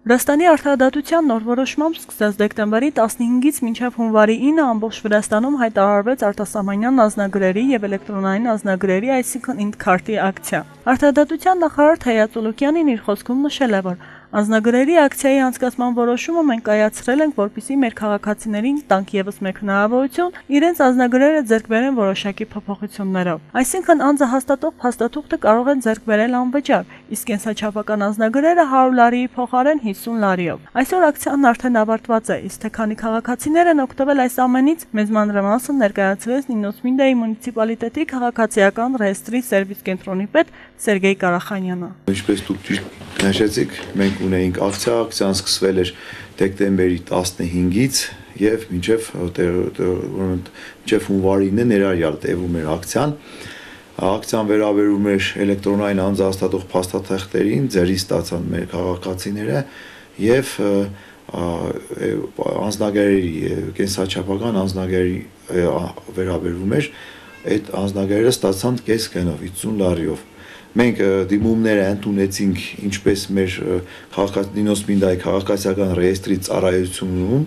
Վրաստանի արդարադատության նոր որոշմամբ սկսած դեկտեմբերի 15-ից մինչև հունվարի 9 ամբողջ Վրաստանում հայտարարվեց արտասահմանյան անձնագրերի եւ էլեկտրոնային անձնագրերի, այսինքն ինքնքարտի ակցիա։ Արդարադատության նախարար Թեյա Ծուլուկյանին իր խոսքում նշել է, որ անձնագրերի ակցիայի անցկացման որոշումը մենք կայացրել ենք, որպեսզի մեր քաղաքացիներին տանք ևս մեկ հնարավորություն իրենց անձնագրերը ձեռք բերեն որոշակի փոփոխություններով։ Այսինքն անձը հաստատող փաստաթուղթը կարող են ձեռք բերել անվճար, իսկ կենսաչափական անձնագրերը 100 լարիի փոխարեն 50 լարիով։ Այսօր ակցիան արդեն ավարտված է, իսկ թե քանի քաղաքացիներ են օգտվել այս ամենից, մեծ մանրամասն ներկայացրեց Նինոսմինդայի մունիցիպալիտետի քաղաքացիական ռեեստրի սերվիս կենտրոնի պետ Սերգեյ Կարախանյանը։ Ինչպես դուք նշեցիք, մենք ունեինք ակցիան սկսվել էր դեկտեմբերի 15-ից եւ մինչեւ հունվարի 9 ներառյալ տևում էր ակցիան։ Ակցիան վերաբերում էր էլեկտրոնային անձահաստատող փաստաթղթերին, ձեռի ստացան մեր քաղաքացիները եւ անձնագրերի կենսաչափական անձնագրերի վերաբերում էր, այդ անձնագրերը ստացան կես գնով 50 լարիով։ Մենք դիմումները ընդունեցինք ինչպես մեր Նինոսմինդայի քաղաքացիական ռեեստրի ծառայությունում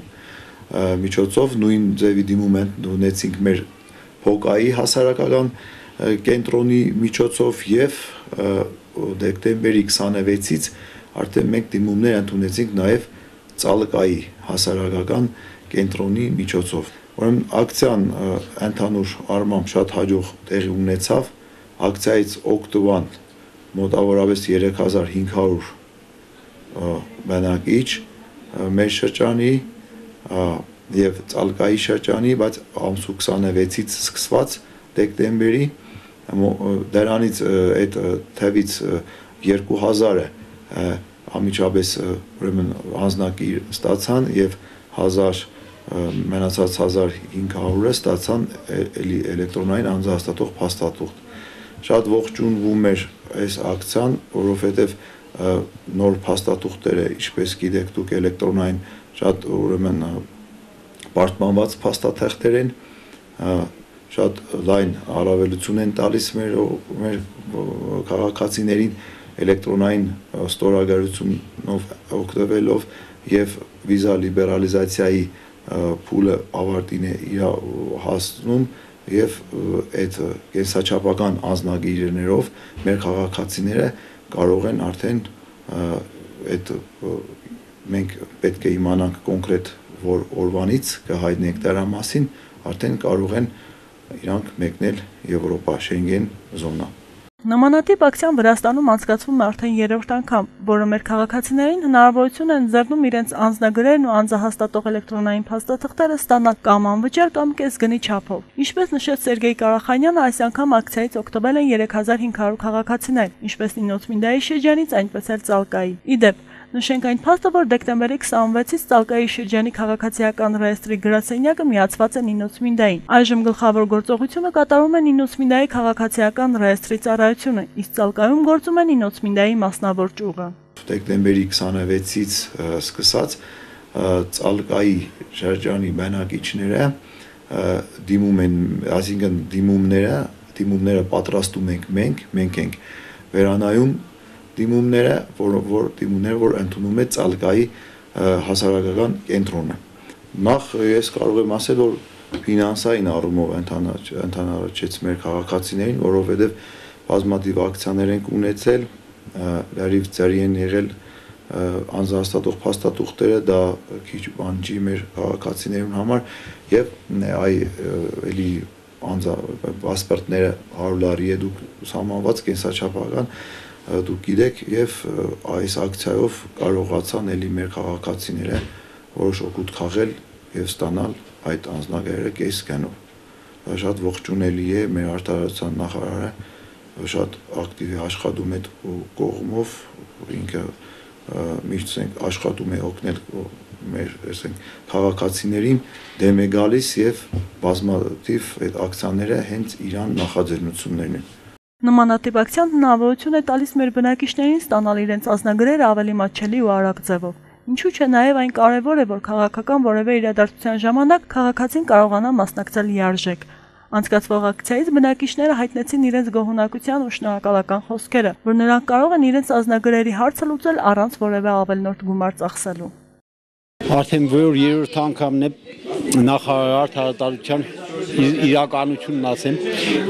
միջոցով, նույն ձևի դիմում ընդունեցինք մեր Փոկայի հասարակական կենտրոնի միջոցով եւ դեկտեմբերի 26-ից արդեն մենք դիմումներ ընդունեցինք նաեւ Ծալկայի հասարակական կենտրոնի միջոցով։ Ուրեմն ակցիան ընդհանուր առմամբ շատ հաջող տեղի ունեցավ։ Ակցիայից օգտվան մոտավորապես 3500 բնակիչ մեր շրջանի եւ Ծալկայի շրջանի, բայց ամսու 26-ից սկսված դեկտեմբերի դրանից այդ թվից 2000-ը ամիջապես ուրեմն անձնագիր ստացան եւ 1000 մնացած 1500-ը ստացան էլեկտրոնային անձահաստատող փաստաթուղթ։ Շատ ողջունվում էր այս ակցիան, որովհետև նոր փաստաթուղթերը, ինչպես գիտեք դուք, էլեկտրոնային շատ ուրեմն պարտմանված փաստաթղթեր են, շատ լայն առավելություն են տալիս մեր քաղաքացիներին էլեկտրոնային ստորագրությունով օգտվելով եւ վիզա լիբերալիզացիայի փուլը ավարտին է հասնում եւ այդ կենսաչափական անձնագիրներով մեր քաղաքացիները կարող են արդեն այդ մենք պետք է իմանանք կոնկրետ որ օրվանից կհայտնենք դրա մասին, արդեն կարող են իրանք մեկնել Եվրոպա, Շենգեն զոնա։ Նմանատիպ ակցիան Վրաստանում անցկացվում է արդեն երրորդ անգամ, որը մեր քաղաքացիներին հնարավորություն է ընձեռնում իրենց անձնագրերն ու անձահաստատող էլեկտրոնային փաստաթղթերը ստանալ կամ անվճար կամ կեսգնի չափով։ Ինչպես նշեց Սերգեյ Կարախանյանը, այս անգամ ակցիայից օգտվել են 3500 քաղաքացիներ, ինչպես Նինոսմինդայի շրջանից, այնպես էլ Ծալկայի։ Իդեպ, նշենք այն փաստը, որ դեկտեմբերի 26-ից Ծալկայի շրջանի քաղաքացիական ռեեստրի գրասենյակը միացված է Նինոսմինդային։ Այժմ գլխավոր գործողությունը կատարում է Նինոսմինդայի քաղաքացիական ռեեստրի ծառայությունը, իսկ Ծալկայում գործում է Նինոսմինդայի մասնավոր ճյուղը։ Դեկտեմբերի 26-ից սկսած Ծալկայի շրջանի բնակիչները դիմում են, այսինքն դիմումները պատրաստում ենք մենք ենք վերանայում դիմումները, որ ընդունում է Ծալկայի հասարակական կենտրոնը։ Նախ ես կարող եմ ասել, որ ֆինանսային առումով ընդհանրացեց մեր քաղաքացիներին, որովհետև բազմաթիվ ակցիաներ ենք ունեցել, լրիվ ծերի են եղել անձահաստատող փաստաթուղթերը, դա քիչ բան չի մեր քաղաքացիներուն համար եւ էլի պասպորտները 100 լարի է դուք սահմանված կենսաչափական դուք գիտեք եւ այս ակցիայով կարողացան էլի մեր քաղաքացիները որոշ օգուտ քաղել եւ ստանալ այդ անձնագրերը կես գնով։ Շատ ողջունելի է մեր արտադրության նախարարը շատ ակտիվ է աշխատում այդ կողմով, ինքը միշտ աշխատում է օգնել մեր քաղաքացիներին դեմ է գալիս եւ բազմաթիվ այդ ակցիաները հենց իրան նախաձեռնություններն են։ Նմանատիպ ակցիան հնարավորություն է տալիս մեր բնակիչներին ստանալ իրենց անձնագրերը ավելի մատչելի ու արագ ձևով։ Ինչու՞ չէ նաև այն կարևոր է, որ քաղաքական որևէ իրադարձության ժամանակ քաղաքացին կարողանա մասնակցել լիարժեք։ Անցկացվող ակցիայից բնակիչները հայտնեցին իրենց գոհունակության ու շնորհակալական խոսքերը, որ նրանք կարող են իրենց անձնագրերի հարցը լուծել առանց որևէ ավելորդ գումար ծախսելու։ Արդեն որ երրորդ անգամն է նախարար հրատարակության իրականությունն ասեմ,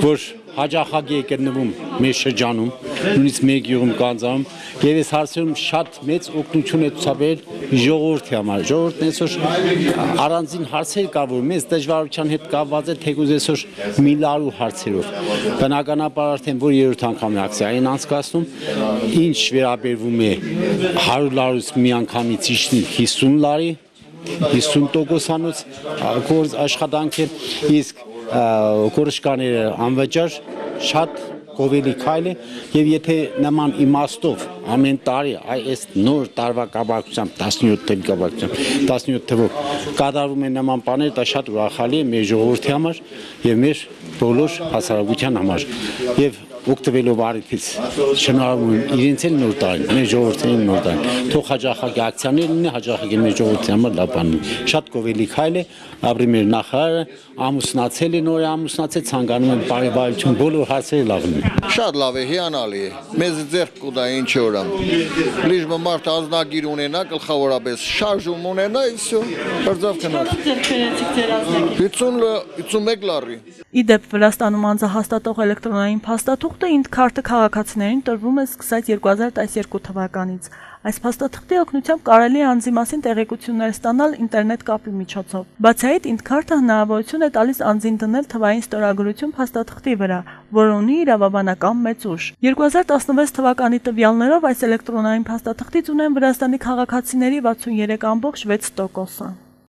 որ հաջախակ է գտնվում մեր շրջանում, նույնիսկ մեր գյուղում կանձանում, եւ այս հարցերում շատ մեծ օգնություն է ցուցաբերել ժողովրդի համար։ Ժողովուրդն այսօր առանձին հարցեր կա, որ մեծ դժվարության հետ կապված է թեկուզ այսօր միլիարդու հարցերով։ Բնականաբար արդեն որ երրորդ անգամն ակցիային անցկացնում, ինչ վերաբերվում է 100 լարուց միանգամից իջնի 50 լարի 50%-անոց գործ աշխատանք է, իսկ կորշկաները անվճար շատ գովելի քայլ է եւ եթե նման իմաստով ամեն տարի այս նոր տարվա կապակցությամբ 17 թվով կատարվում են նման բաներ, դա շատ ուրախալի է մեր ժողովրդի համար եւ մեր բոլոր հասարակության համար եւ օգտվելով արիթից շնորհում իրենց էլ նոր տարին, մեր ժողովրդին նոր տարին։ Թող հաջախակի ակցիաներ լինի, հաջախակի մեր ժողովրդի համար լավ բան է։ Շատ գովելի քայլ է, ապրի մեր նախարարը ամուսնացել է, նոր ամուսնացել, ցանկանում են բարեբայություն, բոլոր հարցերը լավ լինեն։ Շատ լավ է, հիանալի է։ Մեզ ձեռք կուտա ինչ օրա։ Լիժը մարդ ազնագիր ունենա, գլխավորապես շարժում ունենա, իսո, հրձավ կնա։ Ձեռք բերեցիք ձեր ազնագիր։ 51 լարի։ Իդեպ Վրաստանում անձահաստատող էլեկտրոնային փաստաթուղթը ինքքարտը քաղաքացիներին տրվում է սկսած 2012 թվականից։ Այս փաստաթղթի օգնությամբ կարելի է անձի մասին տեղեկություններ ստանալ ինտերնետ կապի միջոցով։ Բացի այդ, ինքքարտը հնարավորություն է տալիս անձին դնել թվային ստորագրություն փաստաթղթի վրա, որը ունի իրավաբանական մեծ ուժ։ 2016 թվականի տվյալներով այս էլեկտրոնային փաստաթղթից ունեն Վրաստանի քաղաքացիների 63.6%-ը։